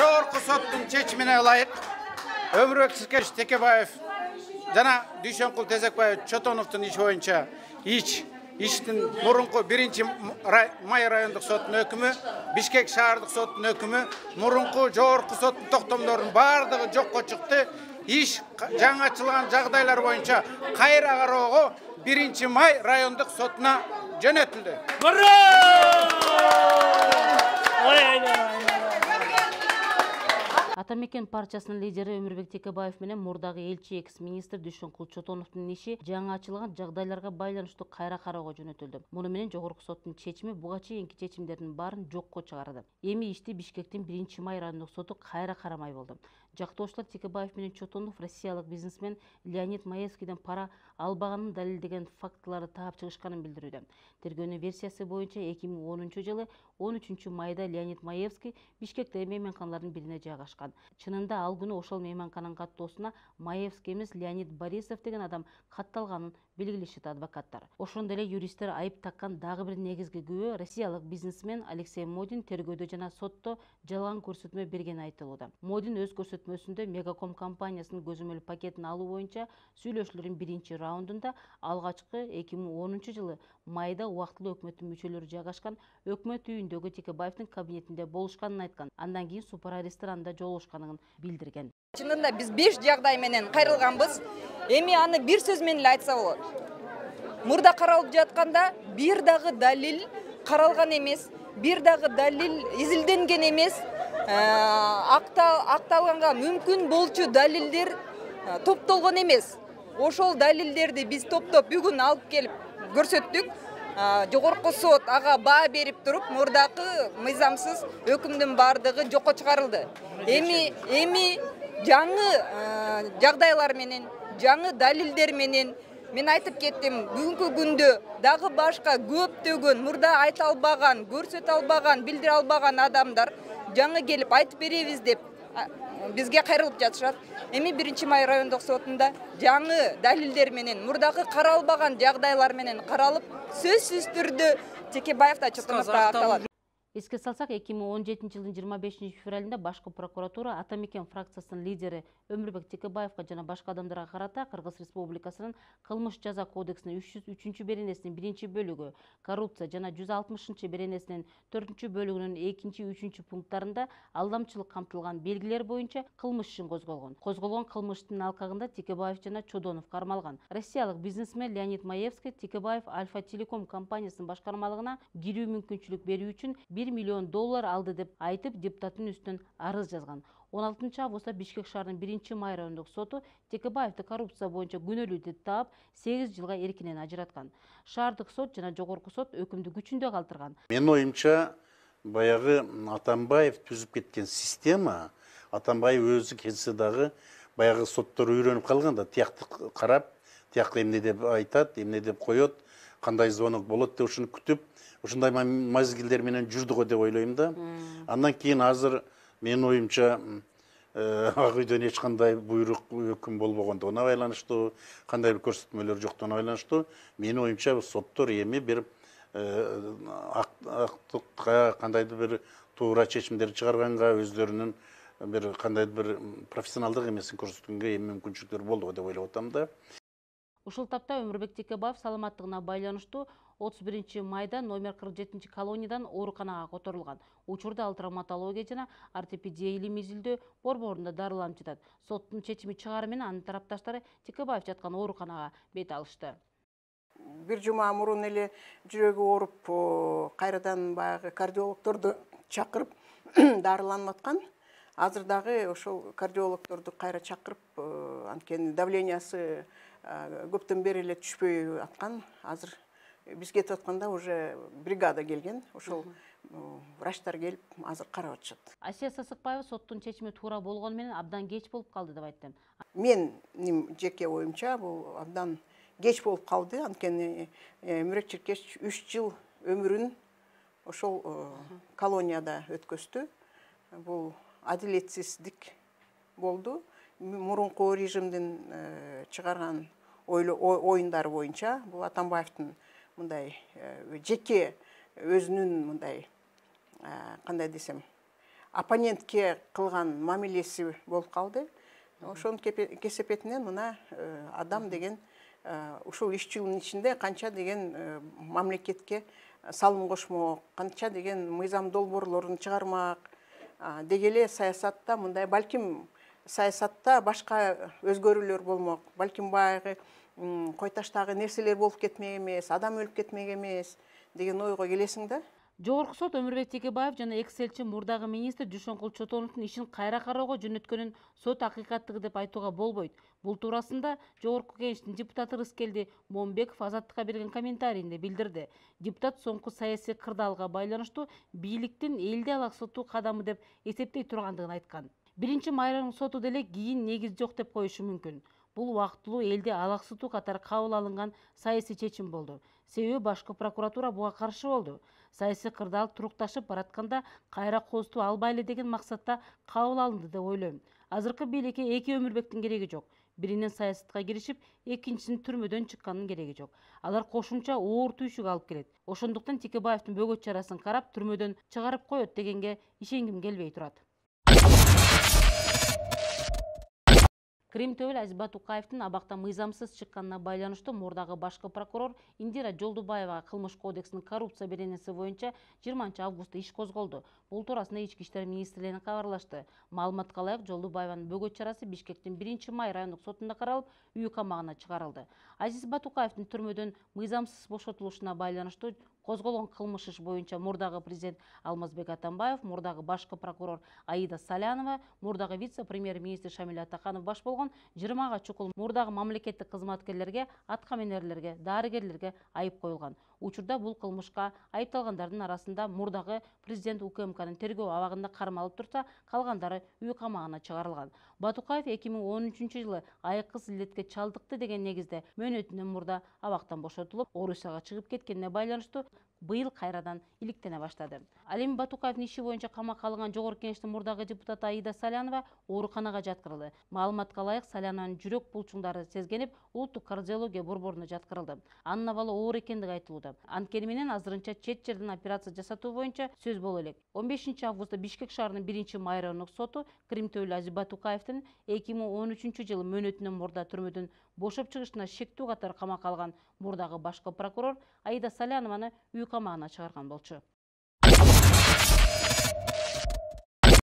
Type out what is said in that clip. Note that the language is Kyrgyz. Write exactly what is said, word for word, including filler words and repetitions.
жогорку соттун чечимине ылайык Өмүрбек Сиркеш Текебаев жана Дүйшөнкул Тезекбаев Чотоновдун иши боюнча ич иштин мурунку биринчи май райондук соттун өкүмү, Бишкек шаардык соттун өкүмү, мурунку жогорку соттун токтомдорунун бардыгы жокко чыкты. Иш жаңы ачылган жагдайлар боюнча кайра кароого биринчи май райондук сотуна жөнөтүлдү. Атамекен партиясынын лидери Өмүрбек Текебаев менен мурдагы элчи экс-министр Дүйшөнкул Чотоновдун иши жаңы ачылган жагдайларга байланыштуу кайра кароого жөнөтүлдү. Муну менен жогорку соттун чечими буга чейинки чечимдердин баарын жокко чыгарды. Эми ишти Бишкектин биринчи май райондук соту кайра карамай болду. Жактоочулар Текебаев менен Чотонов россиялык бизнесмен Леонид Маевскийден пара албаганын далилдеген фактыларды таап чыгышканын билдирүүдө. Тергөөнүн версиясы боюнча эки миң онунчу жылы он үчүнчү майда Леонид Маевский Бишкектеги мейманканалардын бирине жайгашкан. Чынында ал күнү ошол мейманкананын каттоосуна Маевский эмес Леонид Борисов деген адам катталганын белгилешет адвокаттар. Ошондой эле юристтер айып таккан дагы бир негизги күбө россиялык бизнесмен Алексей Модин тергөөдө жана сотто жалган көрсөтмө бергени айтылууда. Модин өз көрсөтмөсүндө Мегаком компаниясынын көзөмөл пакетин алуу боюнча сүйлөшүүлөрдүн биринчи раундунда алгачкы эки миң онунчу жылы майда убактылуу өкмөттүн мүчөлөрү жайгашкан өкмөт үйүндөгү Текебаевдин кабинетинде болушканын айткан. Андан кийин Супара ресторанында жолугушканын билдирген. Чынында биз беш жагдай менен кайрылганбыз. Эми аны бир сөз менен эле айтса болот. Мурда каралып жатканда бир дагы далил каралган эмес, бир дагы далил изилденген эмес. Акталганга мүмкүн болчу далилдер топтолгон эмес. Ошол далилдерди биз топтоп бүгүн алып келип көрсөттүк. Жогорку сот ага баа берип туруп, мурдакы мыйзамсыз өкүмдүн бардыгы жокко чыгарылды. Эми эми жаңы жагдайлар менен, жаңы далилдер менен мен айтып кеттим, бүгүнкү күндө дагы башка көптөгөн мурда айта албаган, көрсөтө албаган, билдире албаган адамдар жаңы келип айтып беребиз деп бизге кайрылып жатышат. Эми биринчи май райондук сотунда жаңы далилдер менен, мурдагы каралбаган жагдайлар менен каралып, сөзсүз түрдө Текебаев да Чотонов да атталат. Эске салсак, эки миң он жетинчи жылдын жыйырма бешинчи февралында башкы прокуратура Атамекен фракциясынын лидери Өмүрбек Текебаевга жана башка адамдарга карата Кыргыз Республикасынын Кылмыш жаза кодексинин үч жүз үчүнчү беренесинин биринчи бөлүгү, коррупция жана жүз алтымышынчы беренесинин төртүнчү бөлүгүнүн экинчи, үчүнчү пункттарында алдамчылык камтылган белгилер боюнча кылмыш ишин козголгон. Козголгон кылмыштын алкагында Текебаев жана Чодонов кармалган. Россиялык бизнесмен Леонид Маевский Текебаев Альфа Телеком компаниясынын башкармалыгына кирүү мүмкүнчүлүк берүү үчүн бир миллион доллар алды деп айтып, депутаттын үстүнөн арыз жазган. он алтынчы августта Бишкек шаарынын биринчи май райондук соту Текебаевди коррупция боюнча күнөөлүү деп таап, сегиз жылга эркинен ажыраткан. Шаардык сот жана жогорку сот өкүмдү күчүндө калтырган. Менин оюмча, баягы Атамбаев түзүп кеткен система, Атамбаев өзү келсе дагы баягы соттор үйрөнүп калган да, тиякты карап, тиякты эмне деп айтат, эмне деп коет, кандай звонок болот деп ушуну күтүп, ушундай мазгилдер менен жүрдү го деп ойлойм да. Андан кийин азыр менин оюмча ак үйдөн эч кандай буйрук өкүм болбогондугуна байланыштуу, кандай бир көрсөтмөлөр жоктугуна байланыштуу, менин оюмча соттор эми бир актыкка, кандайдыр бир туура чечимдер чыгарганга, өздөрүнүн бир кандайдыр бир профессионалдык эмесин көрсөткөнгө эми мүмкүнчүлүктөр болду деп ойлоп атам да. Ушул тапта Өмүрбек Текебаев саламаттыгына байланыштуу отуз биринчи майда номер кырк жетинчи колониядан ооруканага которулган. Учурда ал травматология жана ортопедия илим изилдөө борборунда дарыланып жатат. Соттун чечими чыгаары менен анын тарапташтары Текебаев жаткан ооруканага бет алышты. Бир жума мурун эле жүрөгү ооруп, кайрадан баягы кардиологторду чакырып дарыланып аткан. Азыр дагы ошол кардиологторду кайра чакырып, анткени давлениясы көптөн бери эле түшпөй аткан. Азыр биз кетип атканда уже бригада келген. Ошол врачтар келип азыр карап атышат. Асия Сасыкбаева соттун чечими туура болгону менен абдан кеч болуп калды деп айтты. Менин жеке оюмча бул абдан кеч болуп калды. Анткени Өмүрбек Текебаев үч жыл өмүрүн ошол колонияда өткөздү. Бул адилетсиздик болду. Мурунку режимдин чыгарган оюндары боюнча бул Атамбаевдин мындай жеке өзүнүн мындай кандай десем оппонентке кылган мамилеси болуп калды. Ошонун кесепетинен мына адам деген ушул үч жылдын ичинде канча деген мамлекетке салым кошмок, канча деген мыйзам долбоорлорун чыгармак деги эле саясатта мындай, балким саясатта башка өзгөрүүлөр болмок, балким баягы кой таштагы нерселер болуп кетмек эмес, адам өлүп кетмек эмес деген ойго келесиң да. Жогорку сот Өмүрбек Текебаев жана экс-элчи мурдагы министр Дүйшөнкул Чотоновдун ишин кайра кароого жөнөткөнүн сот акыйкаттыгы деп айтууга болбойт. Бул туурасында Жогорку Кеңештин депутаты Рыскелди Момбеков Азаттыкка берген комментарийинде билдирди. Депутат соңку саясий кырдаалга байланыштуу бийликтин элди алаксытуу кадамы деп эсептей тургандыгын айткан. Биринчи майранын соту деле кийин негиз жок деп коюшу мүмкүн. Бул убактылуу элди алаксытуу катары кабыл алынган саясий чечим болду. Себеби башкы прокуратура буга каршы болду. Саясий кырдаал турукташып баратканда кайра козутуп албайлы деген максатта кабыл алынды деп ойлойм. Азыркы бийликке эки Өмүрбектин кереги жок. Биринен саясатка киришип, экинчисинин түрмөдөн чыкканын кереги жок. Алар кошумча оор түйшүк алып келет. Ошондуктан Текебаевдин бөгөт чарасын карап, түрмөдөн чыгарып коет дегенге ишенгим келбей турат. Крим Төбөл Азизбат Тукаевдин абактан мыйзамсыз чыкканына байланыштуу мурдагы башкы прокурор Индира Жолдубаевага кылмыш кодексинин коррупция беренеси боюнча жыйырманчы августта иш козголду. Бул туурасында Ички иштер министрлигине кабарлашты. Маалыматка ылайык, Жолдубаеванын бөгөт чарасы Бишкектин биринчи май райондук сотунда каралып, үй камагына чыгарылды. Азизбат Тукаевдин түрмөдөн мыйзамсыз бошотулушуна байланыштуу козголгон кылмыш иш боюнча мурдагы президент Алмазбек Атамбаев, мурдагы башкы прокурор Аида Салянова, мурдагы вице-премьер-министр Шамиль Атаканов баш болгон жыйырмага чукул мурдагы мамлекеттик кызматкерлерге, аткаминерлерге, дарыгерлерге айып коюлган. Учурда бул кылмышка айыпталгандардын арасында мурдагы президент УКМКнын тергөө абагында кармалып турса, калгандары үй камагына чыгарылган. Батукаев эки миң он үчүнчү жылы айыккыс илдетке чалдыкты деген негизде мөөнөтүнөн мурда абактан бошотулуп, Орусияга чыгып кеткенине байланыштуу быйыл кайрадан иликтене баштады. Ал эми Батукаевдин иши боюнча камакка алынган Жогорку Кеңештин мурдагы депутаты Аида Салянова ооруканага жаткырылды. Маалыматка ылайык, Салянованын жүрөк булчуңдары сезгенип, улуттук кардиология борборуна жаткырылды. Анын абалы оор экендиги айтылууда. Анткени менен азырынча чет жерден операция жасатуу боюнча сөз боло элек. он бешинчи августта Бишкек шаарынын биринчи май райондук соту Крим Төбөл Азизбат Тукаевдин эки миң он үчүнчү жылы мөөнөтүнөн мурда түрмөдөн бошоп чыгышына шектүү катары камакка алган мурдагы башкы прокурор Аида Салянованы үй камагына чыгарган болчу.